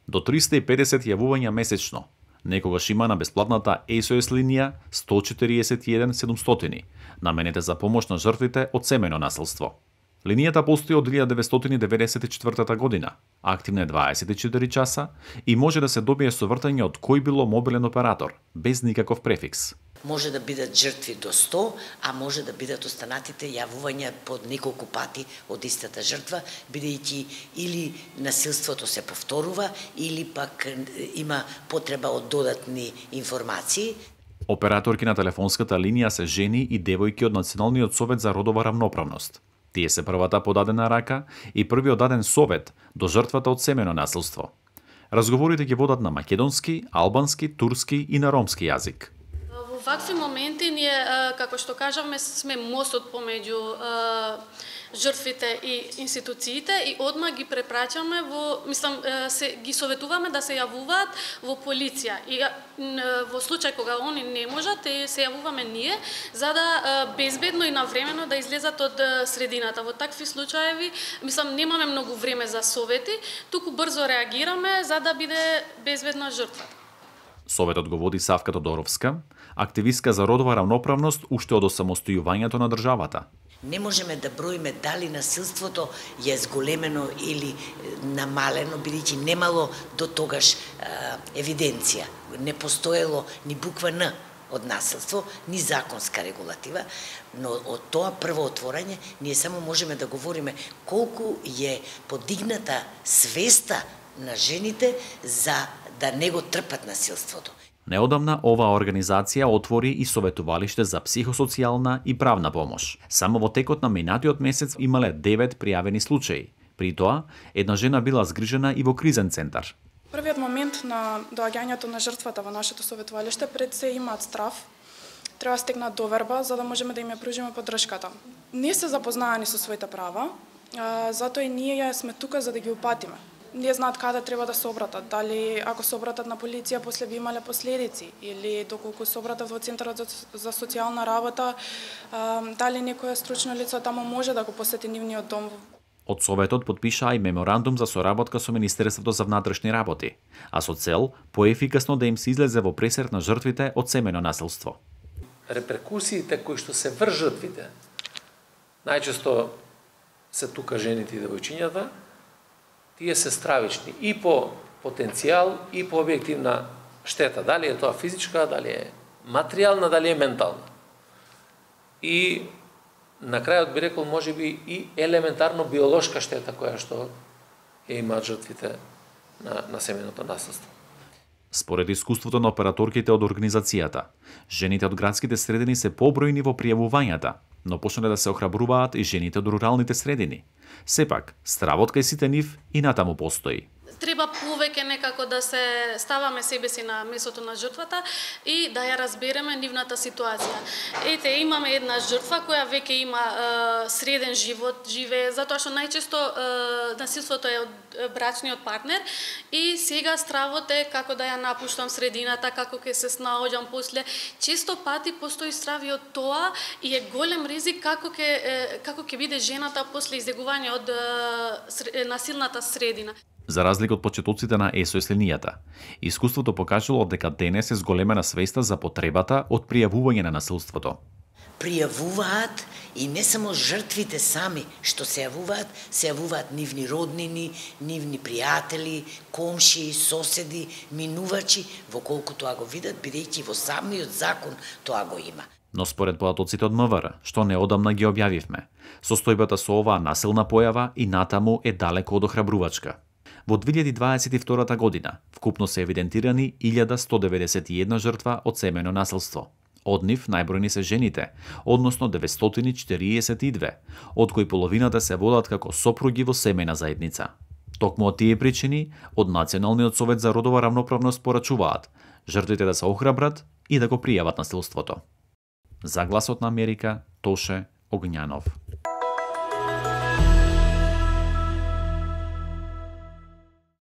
до 350 јавувања месечно. Некогаш има на бесплатната SOS линија 141 700, наменета за помош на жртвите од семејно насилство. Линијата постои од 1994 година, активна е 24 часа и може да се добие совртање од кој било мобилен оператор, без никаков префикс. Може да бидат жртви до 100, а може да бидат останатите јавувања под неколку пати од истата жртва, бидејќи или насилството се повторува, или пак има потреба од додатни информации. Операторки на телефонската линија се жени и девојки од Националниот совет за родова рамноправност. Тие се првата подадена рака и првиот даден совет до жртвата од семејно насилство. Разговорите ги водат на македонски, албански, турски и на ромски јазик. Во вакви моменти ние, како што кажавме, сме мостот помеѓу жртвите и институциите и одма ги препраќаме ги советуваме да се јавуваат во полиција. И во случај кога они не можат, се јавуваме ние за да безбедно и навремено да излезат од средината. Во такви случаеви, немаме многу време за совети, туку брзо реагираме за да биде безбедна жртвата. Советот го води Савка Тодоровска, активистка за родова рамноправност уште од осамостојувањето на државата. Не можеме да броиме дали насилството е зголемено или намалено, бидејќи немало до тогаш евиденција. Не постоело ни буква Н од насилство, ни законска регулатива, но од тоа прво отворање ние само можеме да говориме колку е подигната свеста на жените за да не го трпат насилството. Неодамна оваа организација отвори и советувалиште за психосоцијална и правна помош. Само во текот на минатиот месец имале 9 пријавени случаи. При тоа, една жена била згрижена и во кризен центар. Првиот момент на доаѓањето на жртвата во нашето советувалиште пред се имаат страв. Треба да стекнат доверба за да можеме да им ја пружиме поддршката. Не се запознаани со своите права, затоа и ние сме тука за да ги упатиме. Не знаат каде треба да се обратат, дали ако се обратат на полиција после би имале последици или доколку се обратат во центарот за социјална работа, дали некоја стручно лице таму може да го посети нивниот дом. Од Советот подпишаа и меморандум за соработка со Министерството за внатрешни работи, а со цел поефикасно да им се излезе во пресрет на жртвите од семејно насилство. Реперкусиите кои што се врз жртвите, најчесто се тука жените и девојчињата, тие се стравични и по потенцијал и по објективна штета. Дали е тоа физичка, дали е материјална, дали е ментална. И на крајот би рекол можеби и елементарно биолошка штета која што ја имаат жртвите на семејното насилство. Според искуството на операторките од организацијата, жените од градските средини се побројни во пријавувањата, но почнале да се охрабруваат и жените од руралните средини. Сепак, стравот кај сите нив и натаму постои. Треба повеќе некако да се ставаме себе си на месото на жртвата и да ја разбереме нивната ситуација. Ете, имаме една жртва која веќе има среден живот, живее, затоа што најчесто насилството е од брачниот партнер и сега стравот е како да ја напуштам средината, како ќе се снаоѓам после. Често пати постои страв и од тоа и е голем ризик како ќе биде жената после излегување од насилната средина. За разлика од почетоците на SOS линијата, искуството покажало дека денес е зголемена свеста за потребата од пријавување на насилството. Пријавуваат и не само жртвите сами што се јавуваат нивни роднини, нивни пријатели, комши, соседи, минувачи, во колку тоа го видат, бидејќи во самиот закон тоа го има. Но според податоците од МВР, што неодамна ги објавивме, состојбата со оваа насилна појава и натаму е далеко од охрабрувачка. Во 2022 година вкупно се евидентирани 1191 жртва од семејно насилство. Од нив најбројни се жените, односно 942, од кои половината се водат како сопруги во семејна заедница. Токму од тие причини, од Националниот совет за родова рамноправност порачуваат жртвите да се охрабрат и да го пријават насилството. За Гласот на Америка, Тоше Огњанов.